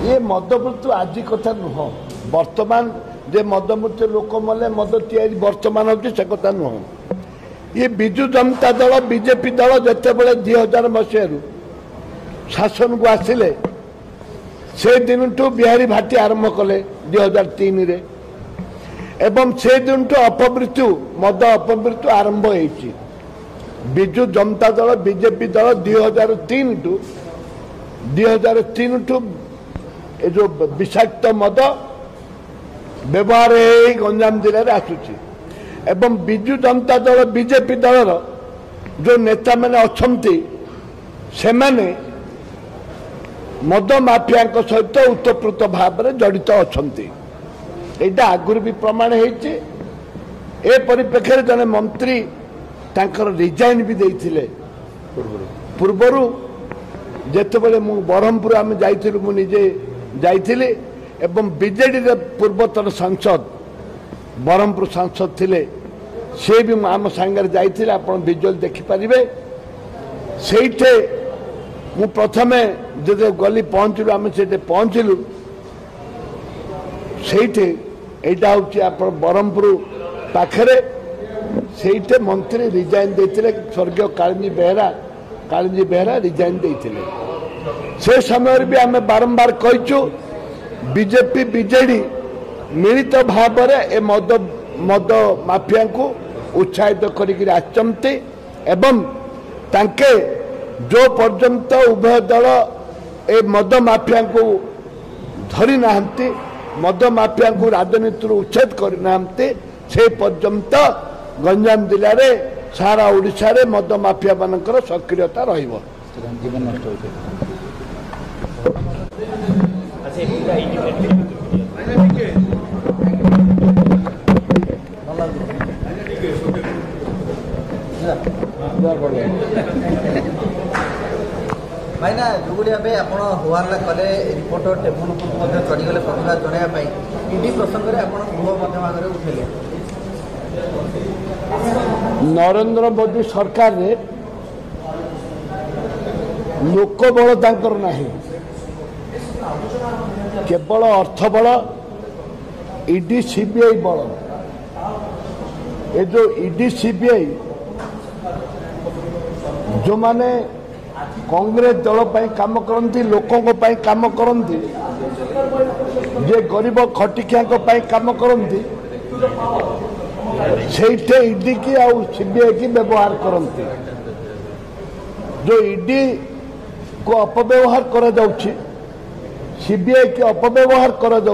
ଏ ମଦ ମୃତ୍ୟୁ ଆଜି କଥା ନୁହଁ। ବର୍ତ୍ତମାନ ଯେ ମଦ ମୃତ୍ୟୁ ଲୋକ ମଲେ ମଦ ତିଆରି ବର୍ତ୍ତମାନ ହେଉଛି ସେ କଥା ନୁହଁ। ଇଏ ବିଜୁ ଜନତା ଦଳ, ବିଜେପି ଦଳ ଯେତେବେଳେ 2000 ମସିହାରୁ ଶାସନକୁ ଆସିଲେ, ସେ ଦିନଠୁ ବିହାରୀ ଭାଟି ଆରମ୍ଭ କଲେ 2003ରେ, ଏବଂ ସେ ଦିନଠୁ ଅପମୃତ୍ୟୁ, ମଦ ଅପମୃତ୍ୟୁ ଆରମ୍ଭ ହେଇଛି। ବିଜୁ ଜନତା ଦଳ, ବିଜେପି ଦଳ 2003ଠୁ ଏ ଯେଉଁ ବିଷାକ୍ତ ମଦ ବ୍ୟବହାର ହେଇ ଗଞ୍ଜାମ ଜିଲ୍ଲାରେ ଆସୁଛି। ଏବଂ ବିଜୁ ଜନତା ଦଳ, ବିଜେପି ଦଳର ଯେଉଁ ନେତାମାନେ ଅଛନ୍ତି, ସେମାନେ ମଦ ମାଫିଆଙ୍କ ସହିତ ଓତପ୍ରୋତ ଭାବରେ ଜଡ଼ିତ ଅଛନ୍ତି। ଏଇଟା ଆଗରୁ ବି ପ୍ରମାଣ ହେଇଛି। ଏ ପରିପ୍ରେକ୍ଷୀରେ ଜଣେ ମନ୍ତ୍ରୀ ତାଙ୍କର ରିଜାଇନ୍ ବି ଦେଇଥିଲେ ପୂର୍ବରୁ। ଯେତେବେଳେ ମୁଁ ବ୍ରହ୍ମପୁର ଆମେ ଯାଇଥିଲୁ, ମୁଁ ନିଜେ ଯାଇଥିଲି, ଏବଂ ବିଜେଡ଼ିର ପୂର୍ବତନ ସାଂସଦ, ବ୍ରହ୍ମପୁର ସାଂସଦ ଥିଲେ, ସେ ବି ଆମ ସାଙ୍ଗରେ ଯାଇଥିଲେ। ଆପଣ ଭିଜୁଆଲ ଦେଖିପାରିବେ। ସେଇଠି ମୁଁ ପ୍ରଥମେ ଯେତେବେଳେ ଗଲି, ପହଞ୍ଚିଲୁ, ଆମେ ସେଠି ପହଞ୍ଚିଲୁ, ସେଇଠି ଏଇଟା ହେଉଛି ଆପଣ ବ୍ରହ୍ମପୁର ପାଖରେ, ସେଇଠି ମନ୍ତ୍ରୀ ରିଜାଇନ୍ ଦେଇଥିଲେ। ସ୍ୱର୍ଗୀୟ କାଳିନ୍ଦୀ ବେହେରା, କାଳିନ୍ଦୀ ବେହେରା ରିଜାଇନ୍ ଦେଇଥିଲେ। ସେ ସମୟରେ ବି ଆମେ ବାରମ୍ବାର କହିଛୁ, ବିଜେପି ବିଜେଡି ମିଳିତ ଭାବରେ ଏ ମଦ ମାଫିଆଙ୍କୁ ଉତ୍ସାହିତ କରିକିରି ଆସିଛନ୍ତି, ଏବଂ ତାଙ୍କେ ଯେଉଁ ପର୍ଯ୍ୟନ୍ତ ଉଭୟ ଦଳ ଏ ମଦ ମାଫିଆଙ୍କୁ ଧରି ନାହାନ୍ତି, ମଦ ମାଫିଆଙ୍କୁ ରାଜନୀତିରୁ ଉଚ୍ଛେଦ କରିନାହାନ୍ତି, ସେ ପର୍ଯ୍ୟନ୍ତ ଗଞ୍ଜାମ ଜିଲ୍ଲାରେ, ସାରା ଓଡ଼ିଶାରେ ମଦ ମାଫିଆମାନଙ୍କର ସକ୍ରିୟତା ରହିବ। ଜୀବନ ନଷ୍ଟ ହେଉଛି। ଭାଇନା, ଯେଉଁଭଳି ଭାବେ ଆପଣ ହୋହାଲ୍ଲା କଲେ, ରିପୋର୍ଟର ଟେବୁଲ ଉପରକୁ ମଧ୍ୟ ଚଢ଼ିଗଲେ ପ୍ରତିବାଦ ଜଣାଇବା ପାଇଁ, ଇଡି ପ୍ରସଙ୍ଗରେ ଆପଣ ଗୃହ ମଧ୍ୟ ଆଗରେ ଉଠେଇଲେ। ନରେନ୍ଦ୍ର ମୋଦି ସରକାରରେ ଲୋକ ବଳ ତାଙ୍କର ନାହିଁ, କେବଳ ଅର୍ଥ ବଳ, ଇଡି ସିବିଆଇ ବଳ। ଏ ଯେଉଁ ଇଡି ସିବିଆଇ, ଯେଉଁମାନେ କଂଗ୍ରେସ ଦଳ ପାଇଁ କାମ କରନ୍ତି, ଲୋକଙ୍କ ପାଇଁ କାମ କରନ୍ତି, ଯେ ଗରିବ ଖଟିଖିଆଙ୍କ ପାଇଁ କାମ କରନ୍ତି, ସେଇଠି ଇଡି କି ଆଉ ସିବିଆଇ କି ବ୍ୟବହାର କରନ୍ତି। ଯେଉଁ ଇଡି କୁ ଅପବ୍ୟବହାର କରାଯାଉଛି, ସିବିଆଇ କି ଅପବ୍ୟବହାର କରାଯାଉଛି।